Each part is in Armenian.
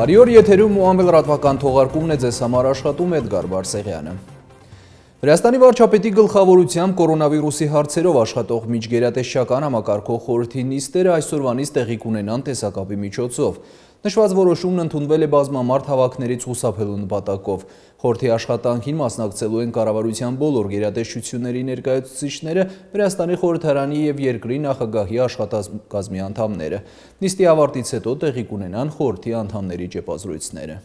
Բարի օր, եթերում Մուամբել լրատվական թողարկումն է, ձեզ համար աշխատում Էդգար Բարսեղյանը։ Վրաստանի վարչապետի գլխավորությամբ կորոնավիրուսի հարցերով աշխատող միջգերատեսչական համակարգող խորհրդի նիստերը այսօրվանից տեղի կունենան տեսակապի միջոցով։ Նշված որոշումն ընդունվել է բազմամարդ հավաքներից խուսափելու նպատակով։ Խորհրդի աշխատանքին մասնակցելու են կառավարության բոլոր գերատեսչությունների ներկայացուցիչները, Վրաստանի խորհրդարանի եւ երկրի նախագահի աշխատակազմի անդամները։ Նիստի ավարտից հետո տեղի կունենան խորհրդի անդամների ճեպազրույցները։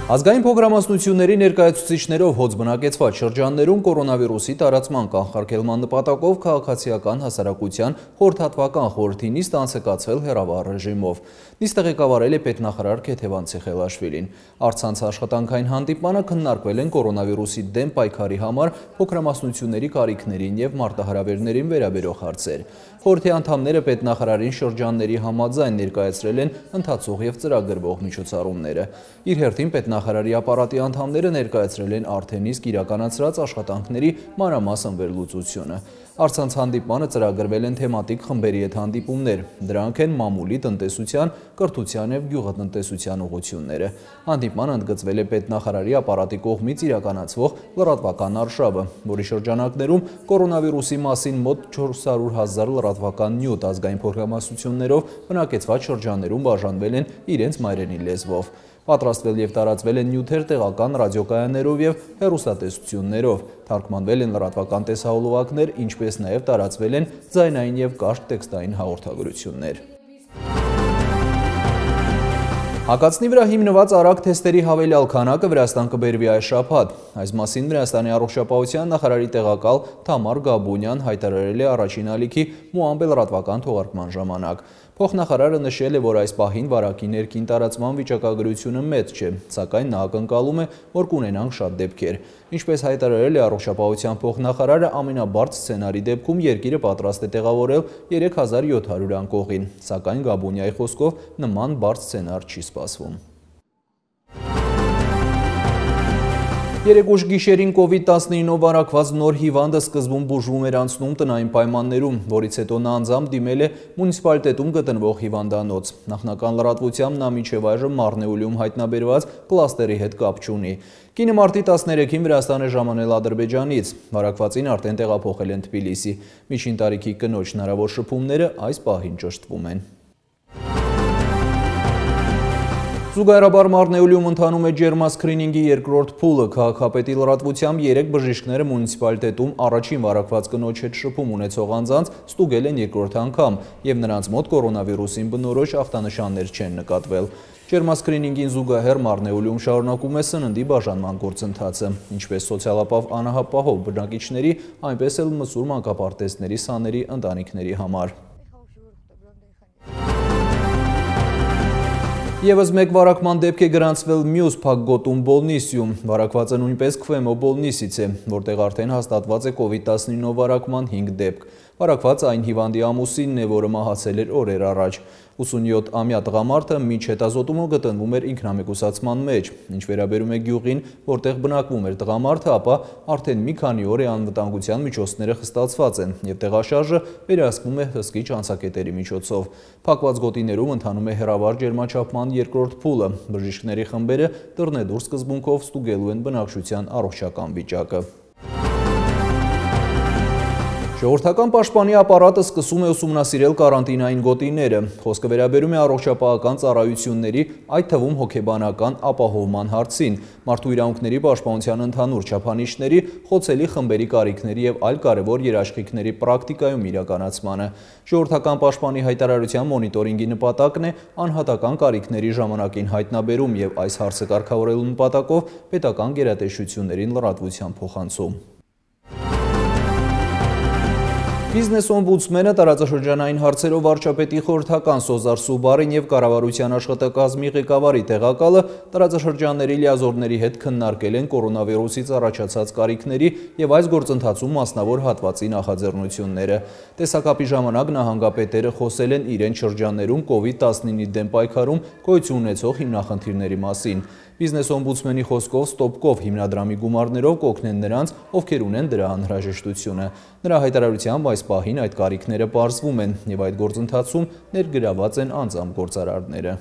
Ազգային փոքրամասնությունների ներկայացուցիչներով հոծ բնակեցված շրջաններում կորոնավիրուսի տարածման կանխարգելման նպատակով քաղաքացիական հասարակության խորհրդատվական խորհրդի նիստ անցկացվել հեռավար ռեժիմով։ Նիստը ղեկավարել է պետնախարար Քեթևան Ցեխելաշվիլին։ Առցանց աշխատանքային հանդիպմանը քննարկվել են կորոնավիրուսի դեմ պայքարի համար փոքրամասնությունների կարիքներին եւ մարտահրավերներին վերաբերող հարցեր։ Խորհրդի անդամները պետնախարարին շրջանների համաձայն ներկայացրել են ընթացող եւ ծրագրվող միջոցառումները։ Իր հերթին պետնախարարի ապարատի անդամները ներկայացրել են արդեն իսկ իրականացրած աշխատանքների մանրամասն վերլուծությունը։ Առցանց հանդիպմանը ծրագրվել են թեմատիկ խմբերի հետ հանդիպումներ։ Դրանք են մամուլի, տնտեսության, կրթության եւ գյուղատնտեսության ուղղությունները։ Հանդիպմանը ընդգծվել է պետնախարարի ապարատի կողմից իրականացվող լրատվական արշավը, որի շրջանակներում կորոնավիրուսի մասին մոտ 400,000 լրատվական նյութ ազգային փոքրամասնություններով բնակեցված շրջաններում բաժանվել են իրենց մայրենի լեզվով։ Պատրաստվել եւ տարածվել են նյութեր տեղական ռադիոկայաններով եւ հեռուստատեսություններով, թարգմանվել են լրատվական տեսահոլովակներ, ինչպես նաեւ տարածվել են ձայնային եւ կարճ տեքստային հաղորդագրություններ։ Հակացնի վրա հիմնված արագ թեստերի հավելյալ քանակը Վրաստան կբերվի այս շաբաթ։ Այս մասին Վրաստանի առողջապահության նախարարի տեղակալ Թամար Գաբունյան հայտարարել է առաջին ալիքի Մուամբել լրատվական թողարկման ժամանակ։ Փոխնախարարը նշել է, որ այս պահին վարակի ներքին տարածման վիճակագրությունը մեծ չէ, սակայն նա ակնկալում է, որ կունենանք շատ դեպքեր։ Ինչպես հայտարարել է առողջապահության փոխնախարարը, ամենաբարձ սցենարի դեպքում երկիրը պատրաստ է տեղավորել 3700 անկողին, սակայն Գաբունյայի խոսքով նման բարձ սցենար չի սպասվում։ Երեկ ուշ գիշերին COVID-19-ով վարակված նոր հիվանդը սկզբում բուժվում էր անցնում տնային պայմաններում, որից հետո նա անձամբ դիմել է մունիցիպալիտետում գտնվող հիվանդանոց։ Նախնական լրատվությամբ նա մինչև այժմ Մարնեուլիում հայտնաբերված կլաստերի հետ կապ չունի։ Կինը մարտի 13-ին Վրաստան է ժամանել Ադրբեջանից։ Վարակվածին արդեն տեղափոխել են Թբիլիսի։ Միջին տարիքի կնոջ հնարավոր շփումները այս պահին ճշտվում են։ Զուգահեռաբար Մարնեուլիում ընթանում է ջերմասքրինինգի երկրորդ փուլը։ Քաղաքապետի լրատվությամբ 3 բժիշկները մունիցիպալիտետում առաջին վարակված կնոջ հետ շփում ունեցող անձանց ստուգել են երկրորդ անգամ եւ նրանց մոտ կորոնավիրուսին բնորոշ ախտանշաններ չեն նկատվել։ Ջերմասքրինինգին զուգահեռ Մարնեուլիում շարունակում է սննդի բաժանման գործընթացը, ինչպես սոցիալապահ անահապահով բնակիչների, այնպես էլ մսուր մանկապարտեզների սաների ընտանիքների համար։ Եվս մեկ վարակման դեպք է գրանցվել մյուս Փակգոտում Բոլնիսիում։ Վարակվածը նույնպես Քվեմո Բոլնիսից է, որտեղ արդեն հաստատված է COVID-19 վարակման 5 դեպք։ Վարակված այն հիվանդի ամուսինն է, որը մահացել էր օրեր առաջ։ 87-ամյա տղամարդը մինչ հետազոտումը գտնվում էր ինքնամեկուսացման մեջ։ Ինչ վերաբերում է գյուղին, որտեղ բնակվում էր տղամարդը, ապա արդեն մի քանի օր է անվտանգության միջոցները խստացված են եւ տեղաշարժը վերահսկվում է հսկիչ անցակետերի միջոցով։ Փակված գոտիներում ընթանում է հեռավար ջերմաչափման երկրորդ փուլը։ Բժիշկների խմբերը դռնեդուր սկզբունքով ստուգելու են բնակչության առողջական վիճակը։ Ժողովրդական պաշտպանի ապարատը սկսում է ուսումնասիրել կարանտինային գոտիները։ Խոսքը վերաբերում է առողջապահական ծառայությունների, այդ թվում հոգեբանական ապահովման հարցին, մարդու իրավունքների պաշտպանության ընդհանուր չափանիշների, խոցելի խմբերի կարիքների եւ այլ կարևոր երաշխիքների պրակտիկայում իրականացմանը։ Ժողովրդական պաշտպանի հայտարարության մոնիտորինգի նպատակն է անհատական կարիքների ժամանակին հայտնաբերում եւ այս հարցը կարգավորելու նպատակով պետական գերատեսչություններին լրատվության փոխանցում։ Բիզնես օմբուդսմենը տարածաշրջանային հարցերով վարչապետի խորհրդական Սոզար Սուբարին եւ կառավարության աշխատակազմի ղեկավարի տեղակալը տարածաշրջանների լիազորների հետ քննարկել են կորոնավիրուսից առաջացած կարիքների եւ այս գործընթացում մասնավոր հատվածի նախաձեռնությունները։ Տեսակապի ժամանակ նահանգապետերը խոսել են իրենց շրջաններում COVID-19-ի դեմ պայքարում գոյություն ունեցող հիմնախնդիրների մասին։ Բիզնես օմբուդսմենի խոսքով Ստոպկով հիմնադրամի գումարներով կօգնեն նրանց, ովքեր ունեն դրա անհրաժեշտությունը։ Նրա հայտարարությամբ այս այս պահին այդ կարիքները պարզվում են եւ այդ գործընթացում ներգրաված են անձամբ գործարարները։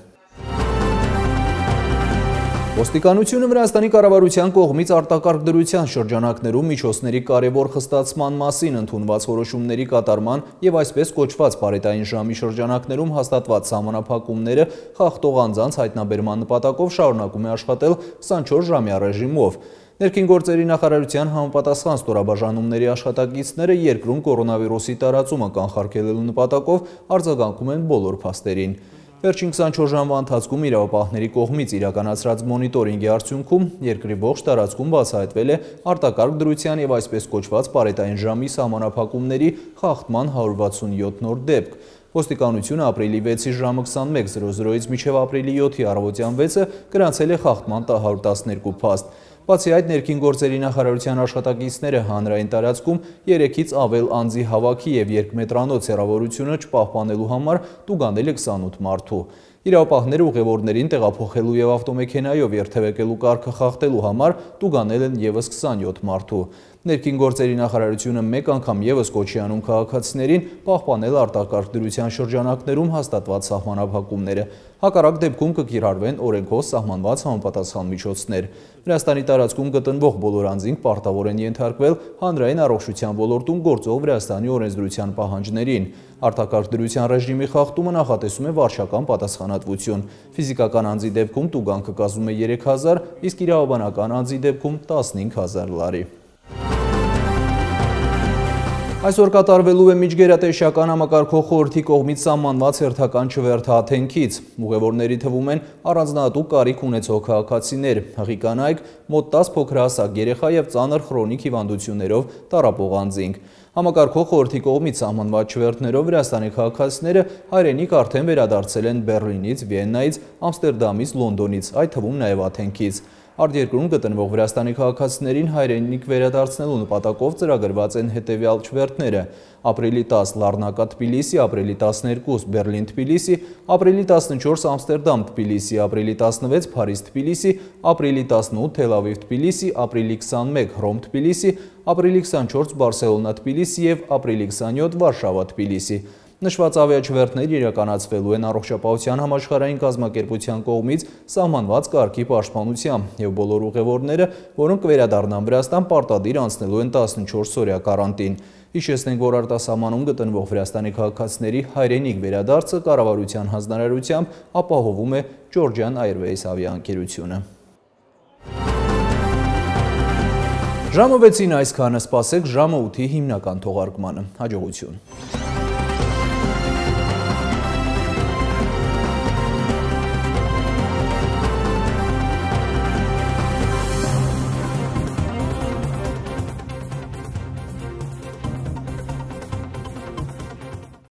Ոստիկանությունը Վրաստանի կառավարության կողմից արտակարգ դրության շրջանակներում միջոցների կարևոր խստացման մասին ընդունված որոշումների կատարման եւ այսպես կոչված պարետային ժամի շրջանակներում հաստատված սահմանափակումները խախտող անձանց հայտնաբերման նպատակով շարունակում է աշխատել 24-ժամյա ռեժիմով։ Ներքին գործերի նախարարության համապատասխան ստորաբաժանումների աշխատակիցները երկրում կորոնավիրուսի տարածումը կանխարգելելու նպատակով արձագանքում են բոլոր փաստերին։ Վերջին 24 ժամվա ընթացքում իրավապահների կողմից իրականացրած մոնիտորինգի արդյունքում երկրի ողջ տարածքում բացահայտվել է արտակարգ դրության եւ այսպես կոչված պարետային ժամի սահմանափակումների խախտման 167 նոր դեպք։ Ոստիկանությունը ապրիլի 6-ի ժամը 21:00-ից մինչև ապրիլի 7-ի առավոտյան 6-ը գրանցել է խախտման 112 փաստ։ Բացի այդ, ներքին գործերի նախարարության աշխատակիցները հանրային տարածքում 3-ից ավել անձի հավաքի եւ երկմետրանոց հեռավորությունը չպահպանելու համար տուգանել է 28 մարդու։ Իրավապահները ուղևորներին տեղափոխելու եւ ավտոմեքենայով երթևեկելու կարգը խախտելու համար տուգանել են եւս 27 մարդու։ Ներքին գործերի նախարարությունը մեկ անգամ եւս կոչի անում քաղաքացիներին պահպանել արտակարգ դրության շրջանակներում հաստատված սահմանափակումները։ Հակառակ դեպքում կկիրառվեն օրենքով սահմանված համապատասխան միջոցներ։ Վրաստանի տարածքում գտնվող բոլոր անձինք պարտավոր են ենթարկվել հանրային առողջության ոլորտում գործող Վրաստանի օրենսդրության պահանջներին։ Արտակարգ դրության ռեժիմի խախտումը նախատեսում է վարչական պատասխանատվություն։ Ֆիզիկական անձի դեպքում տուգանքը կազմում է 3000, իսկ իրավաբանական անձի դեպքում 15000 լարի։ Այսօր կատարվելու է միջգերատեսչական համակարգող խորհրդի կողմից սահմանված հերթական չվերթաթենքից։ Ուղևորների թվում են առանձնահատուկ կարիք ունեցող քաղաքացիներ, հղի կանայք, մոտ 10 փոքրահասակ երեխա եւ ծանր խրոնիկ հիվանդություններով տառապող անձինք։ Համակարգող խորհրդի կողմից սահմանված չվերթներով Վրաստանի քաղաքացիները հայրենիք արդեն վերադարձել են Բեռլինից, Վիեննայից, Ամստերդամից, Լոնդոնից, այդ թվում նաեւ Աթենքից։ Արտերկրում գտնվող Վրաստանի քաղաքացիներին հայրենիք վերադարձնելու նպատակով ծրագրված են հետևյալ չվերթները. ապրիլի 10 Լառնակա Թբիլիսի, ապրիլի 12 Բեռլին Թբիլիսի, ապրիլի 14 Ամստերդամ Թբիլիսի, ապրիլի 16 Փարիզ Թբիլիսի, ապրիլի 18 Թել Ավիվ Թբիլիսի, ապրիլի 21 Հռոմ Թբիլիսի, ապրիլի 24 Բարսելոնա Թբիլիսի եւ ապրիլի 27 Վարշավա Թբիլիսի։ Նշված ավիաչվերթները իրականացվելու են Առողջապահության համաշխարհային կազմակերպության կողմից սահմանված կարգի պաշտպանությամբ եւ բոլոր ուղևորները, որոնք կվերադառնան Վրաստան, պարտադիր անցնելու են 14-օրյա կարանտին։ Հիշեցնենք, որ արտասահմանում գտնվող Վրաստանի քաղաքացիների հայրենիք վերադարձը կառավարության հանձնարարությամբ ապահովում է Georgian Airways ավիաընկերությունը։ Ժամը 6-ին այսքանը, սպասեք ժամը 8-ի հիմնական թողարկմանը։ Հաջողություն։